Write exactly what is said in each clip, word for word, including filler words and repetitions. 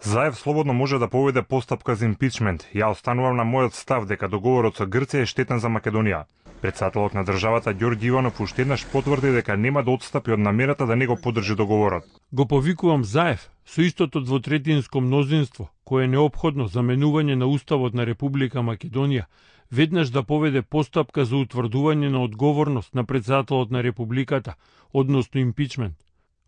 Заев слободно може да поведе постапка за импичмент. Ја останувам на мојот став дека договорот со Грција е штетен за Македонија. Председателот на државата Ѓорѓи Иванов уште еднаш потврди дека нема да отстапи од намерата да не го поддржи договорот. Го повикувам Заев со истото двотретинско мнозинство кое е неопходно за менување на Уставот на Република Македонија, веднаш да поведе постапка за утврдување на одговорност на председателот на Републиката, односно импичмент.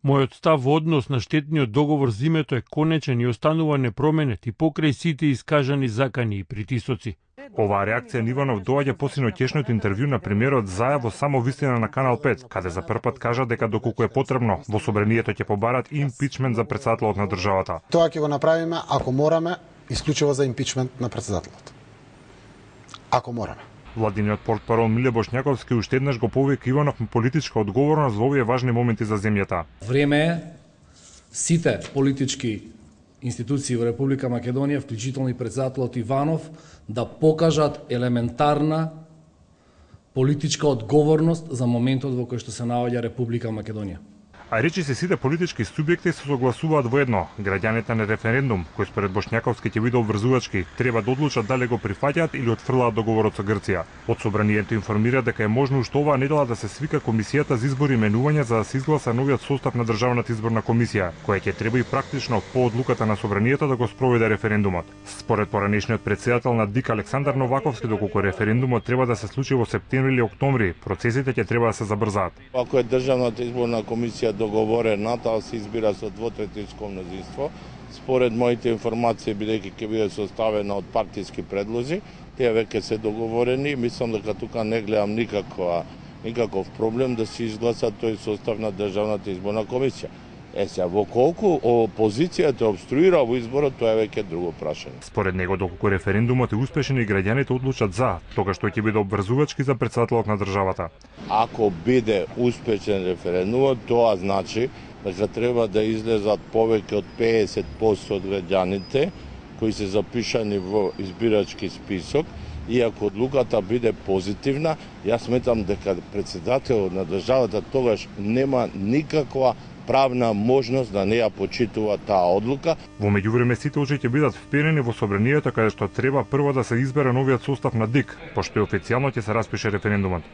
Мојот став во однос на штетниот договор за името е конечен и останува непроменет и покрај сите искажани закани и притисоци. Оваа реакција на Иванов доаѓа по синоќешното интервју на премиерот Заев во Само вистина на Канал пет, каде за прв пат кажа дека доколку е потребно, во собранието ќе побарат импичмент за председателот на државата. Тоа ќе го направиме ако мораме, исклучиво за импичмент на председателот. Ако мораме. Владиниот портпарол Миле Бошњаковски уште еднаш го повика Иванов на политичка одговорност во овие важни моменти за земјата. Време е сите политички институции во Република Македонија, вклучително и председателот Иванов, да покажат елементарна политичка одговорност за моментот во кој што се наоѓа Република Македонија. А речи се сите политички субјекти се согласуваат во едно. Граѓаните на референдум, кој според Бошњаковски ќе биде обврзувачки, треба да одлучат дали го прифаќаат или отфрлаат договорот со Грција. Од собранието информира дека е можно уште оваа недела да се свика комисијата за избори и менување за да се изгласа новиот состав на државната изборна комисија, која ќе треба и практично по одлуката на собранието да го спроведе референдумот. Според поранешниот председател на ДИК Александар Новаковски, доколку референдумот треба да се случи во септември или октомври, процесите ќе треба да се забрзаат. Ако е државната изборна комисија договорена, таа се избира со двотретинско мнозинство. Според моите информации, бидејќи ќе биде составена од партиски предлози, тие веќе се договорени. Мислам дека тука не гледам никаква, никаков проблем да се изгласа тој состав на државната изборна комисија. Е сега, во колку опозицијата обструира во изборот, тоа е веќе друго прашање. Според него, доколку референдумот е успешен и граѓаните одлучат за, тогаш тој ќе биде обврзувачки за председателот на државата. Ако биде успешен референдумот, тоа значи дека треба да излезат повеќе од педесет проценти од граѓаните кои се запишани во избирачки список, и ако одлуката биде позитивна, јас сметам дека председателот на државата тогаш нема никаква правна можност да не ја почитува таа одлука. Во меѓувреме сите очи ќе бидат вперени во собранието каде што треба прво да се избере новиот состав на ДИК, пошто и официјално ќе се распише референдумот.